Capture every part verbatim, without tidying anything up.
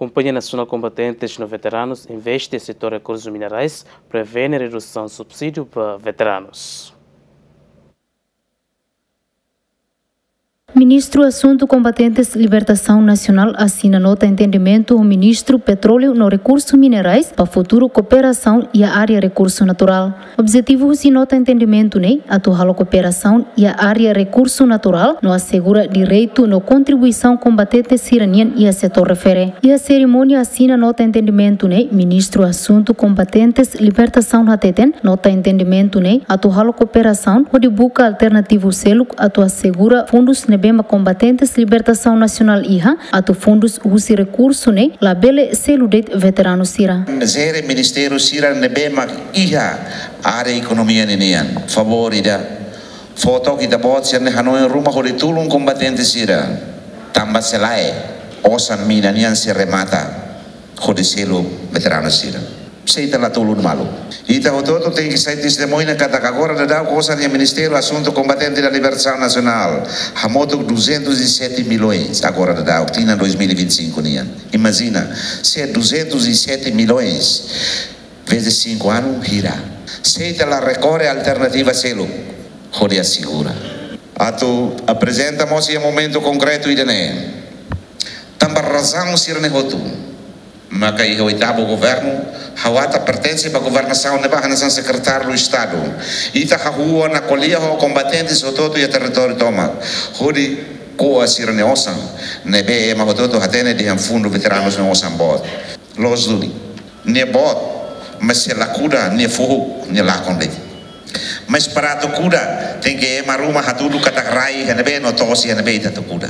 Kompañia Nasionál Kombatentes no Veteranus investe setór rekursus minerais, prevene redusaun subsídiu ba veteranus. Ministru Asuntu Kombatentes Libertasaun Nasionál asina nota entendimentu ho Ministru Petróleu no Rekursu Minerais ba futuru kooperasaun iha área rekursu naturál. Objetivu husi nota entendimentu ne'e atu halo kooperasaun iha área rekursu naturál no asegura direitu no kontribuisaun kombatente sira-nian iha setór refere. Iha serimónia asina nota entendimentu ne'e, Ministru Asuntu Kombatentes Libertasaun hateten, nota entendimentu ne'e atu halo kooperasaun hodi buka alternativu seluk atu asegura fundus ne'ebé mak kombatentes libertasaun nasionál iha, atu fundus husi rekursu ne'e labele selu de'it veteranu sira. Jere ministériu sira ne'ebé mak iha área ekonomia ninian. Favór ida, fó took ita-boot sira-ne'e hanoin ruma hodi tulun kombatente sira. Tanba se lae, osan mina nian sei remata hodi selu veteranu sira. Se ita la tulun malu. Ita hotu-hotu tenke sai testemuña katak agora daudaun osan iha Ministériu Asuntu Kombatente no Libertasaun Nasionál hamutuk duzentos e sete milhões agora daudaun, tinan dois mil e vinte e cinco nian. Imajina, se duzentos e sete milhões vezes cinco anu hira. Se ita la rekorre alternativa seluk hodi asegura. Atu aprezenta mós iha momentu konkretu ida-ne'e. Tanba razaun sira-ne'e hotu, maka iha oitavu governu, ha'u ata pertense ba governasaun ne'ebá hanesan sekretáriu Estadu. Ita hahú ona ko'alia ho kombatentes hotu-hotu iha territóriu tomak, hodi ko'a sira-nia osan ne'ebé ema hotu-hotu hatene dehan fundu veteranus nia osan boot. Loos duni. Nia boot, mas se la kuda, nia fuhuk, nia lakon de'it. Mas para atu kuda, tenke ema ruma hatudu katak rai iha ne'ebé no to'os iha ne'ebé ita atu kuda.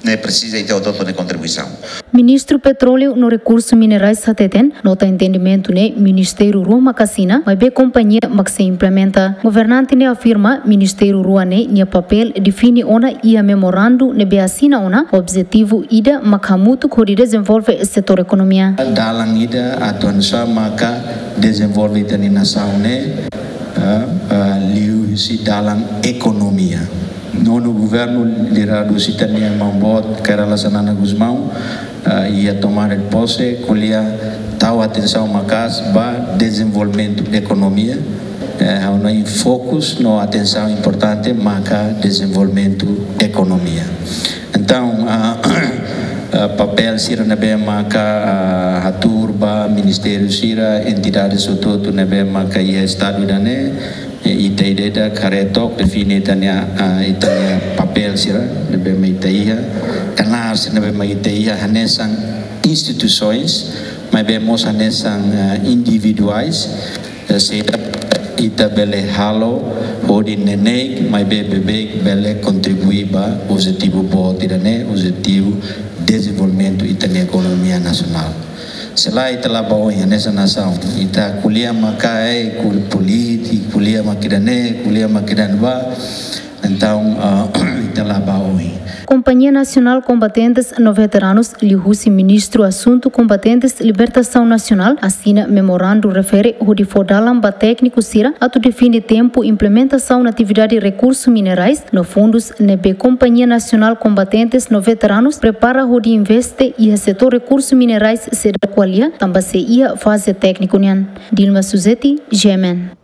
Ne'e presiza ita hotu-hotu nia kontribuisaun. Ministru Petróleu no Rekursu Minerais hateten, nota entendimentu ne'e ministériu rua mak asina, maibé kompañia mak sei implementa. Governante ne'e afirma, ministériu rua ne'e nia papél define ona iha memorandu ne'ebé asina ona, objetivu ida mak hamutuk hodi dezenvolve setór ekonomia. Dalan ida atu hanesan maka dezenvolve ita-nia nasaun ne'e, ah, ah, liuhusi dalan ekonomia. Nonu governu lideradu husi ita-nia maun-boot Kay Rala Xanana Gusmão, ah, iha tomada de posse, ko'alia tau atensaun maka'as ba dezenvolvimentu ekonomia, eh, ha'u hanoin fokus no atensaun importante maka dezenvolvimentu ekonomia. Entaun, ah, ah, papél sira ne'ebé maka, ah, hatuur ba ministériu sira, entidades hotu-hotu ne'ebé maka iha Estadu ida-ne'e, eh, ita ida-idak haree took, define ita-nia, ah, ita-nia papél sira ne'ebé mak ita iha, knaar sira ne'ebé mak ita iha, hanesan instituisoens, maibé mós hanesan, ah, individuais, eh, saida ita bele halo hodi neineik maibé beibeik bele kontribui ba objetivu boot ida-ne'e, objetivu dezenvolvimentu ita-nia ekonomia nasionál. Se lae ita la bá oin hanesan nasaun, ita ko'alia maka, eh, kul-, polítika, ko'alia mak ida-ne'e, ko'alia mak ida-ne'ebá. Entaun, ah, ita la bá oin. Kompañia Nasionál Kombatentes no Veteranus liuhusi Ministru Asuntu Kombatentes Libertasaun Nasionál asina memorandu refere hodi fó dalan ba tékniku sira atu define tempu implementasaun atividade rekursu minerais no fundus ne'ebé Kompañia Nasionál Kombatentes no Veteranus prepara hodi investe iha setór rekursu minerais seidauk ko'alia, tanba sei iha faze tékniku nian. Dilma Suzeti, G M N.